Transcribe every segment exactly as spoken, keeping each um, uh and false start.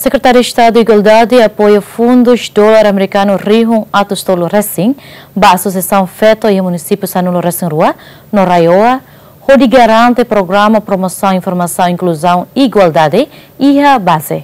Sekretáriu Estadu Igualdade apoia fundus dolar amerikanu rihun atus tolu resin ba asosiasaun feto iha munisípiu sanulu resin rua no RAEOA, hodi garante programa promosaun informasaun inkluzaun igualdade iha baze.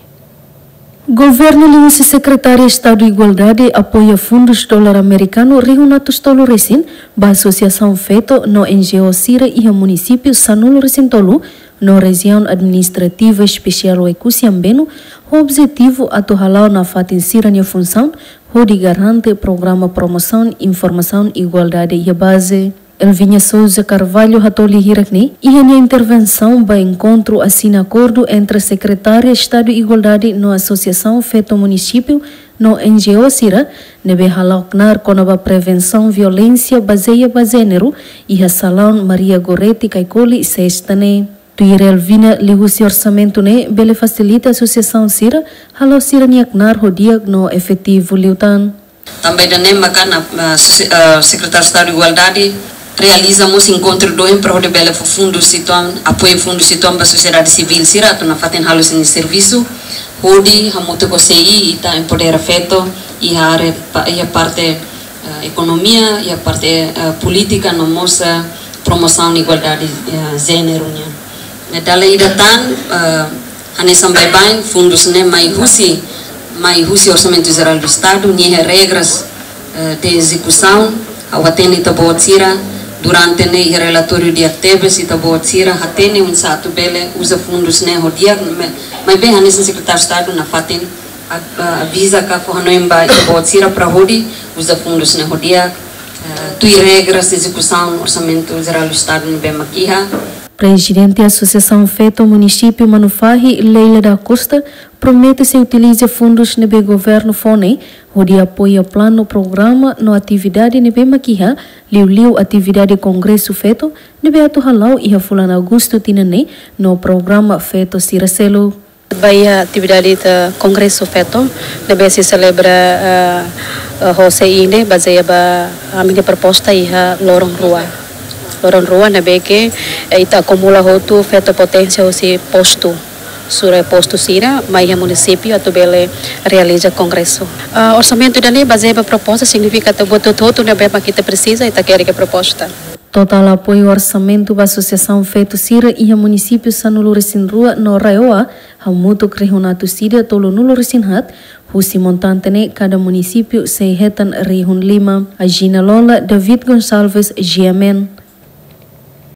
Governu liuhusi Sekretáriu Estadu Igualdade apoia fundus dolar amerikanu rihun atus tolu resin ba asosiasaun feto no N G O sira iha munisípiu sanulu resin tolu no rejiaun administrativa espesiál Oekusi Ambenu, ho objetivu atu hala'o nafatin sira-nia funsaun hodi garante programa promosaun informasaun igualdade iha baze. Elviña Sousa Carvalho hatoli hirak ne'e iha nia intervensaun ba enkontru asina akordu entre Sekretáriu Estadu Igualdade no Asosiasaun Feto Munisípiu no N G O sira ne'ebé hala'o knaar kona-ba prevensaun violénsia bazeia ba jéneru iha salaun Maria Goretti Caicoli, sesta ne'e. Tuir Elviña, liuhusi orsamentu ne'e bele fasilita asosiasaun sira hala'o sira-nia knaar ho di'ak no efetivu liután. Tanba ida-ne'e maka, ah, sosi-, ah, Sekretáriu Estadu Igualdade realiza mós enkontru doben para hodi bele fó fundus uitoan, apoiu fundus uitoan ba sosiedade sivíl sira atu nafatin halo sira-nia servisu, hodi hamutuk ho C I ita empodera feto iha área pa-, iha parte, ah, ekonomia, iha parte, ah, polítika no mós, ah, promosaun igualdade, ah, jéneru nian. Ne'e dala ida tan, ah, hanesan baibain fundus ne'e mai husi, mai husi Orsamentu Jerál do Estadu, nia iha regras, eh, de ezekusaun, ha'u hatene ita-boot sira, durante ne'e iha relatóriu di'ak tebes, ita-boot sira hatene oinsá atu bele uza fundus ne'e ho di'ak, me-, maibé hanesan Sekretáriu Estadu nafatin a-, a-, aviza ka fó hanoin ba ita-boot sira para hodi uza fundus ne'e ho di'ak, eh, tuir regras ezekusaun Orsamentu Jerál do Estadu ne'ebé mak iha. Prezidente Asosiasaun Feto Munisípiu Manufahi, Leila da Costa, promete sei utiliza fundus ne'ebé governu fó ne'e hodi apoia planu, programa no atividade ne'ebé mak iha, liuliu atividade kongresu feto ne'ebé atu hala'o iha fulan Agostu tinan ne'e no programa feto sira seluk. Ba iha atividade ita kongresu feto ne'ebé sei selebra, ah, ah, ho C I ne'e, bazeia ba ami-nia proposta iha loron rua. Loron rua ne'ebé ke, eh, ita akumula hotu feto poténsia husi postu, sura postu sira mai iha munisípiu atu bele realiza kongresu. Ah, orsamentu ida-ne'e bazeia ba proposta, signifika ita-boot hotu-hotu ne'ebé mak ita presiza, ita hakerek iha proposta. Totál apoiu orsamentu ba asosiasaun feto sira iha munisípiu sanulu resin rua no RAEOA hamutuk rihun atus ida tolunulu resin haat, husi montante ne'e kada munisípiu sei hetan rihun lima. Agina Lola, David Gonçalves, G M N.